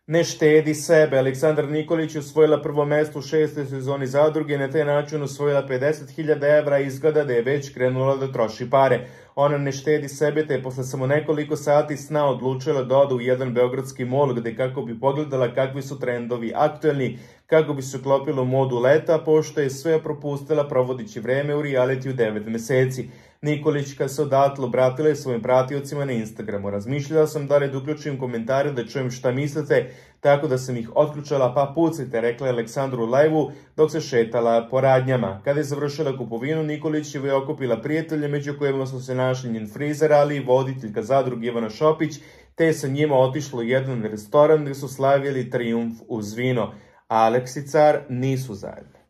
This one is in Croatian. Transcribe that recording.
Ne štedi sebe. Aleksandar Nikolić je osvojila prvo mesto u 6. sezoni Zadruge i na taj način osvojila 50.000 evra i izgleda da je već krenula da troši pare. Ona ne štedi sebe te je posle samo nekoliko sati sna odlučila da ode u jedan beogradski mol gde kako bi pogledala kakvi su trendovi aktuelni, kako bi se uklopila u modu leta, pošto je sve propustila provodeći vreme u realitiju 9 meseci. Nikolić kad se odatle obratila je svojim pratiocima na Instagramu. Razmišljala sam da li da uključim komentare da čujem šta mislite, tako da sam ih otključala pa pucajte, rekla je Aleksandru u live-u dok se šetala po radnjama. Kada je završila kupovinu, Nikolić je okupila prijatelje među kojima su se našli njen frizer, ali i voditeljka zadruge Ivana Šopić, te je sa njima otišlo u jedan restoran gde su slavili trijumf uz vino. Alex i Car nisu zajedno.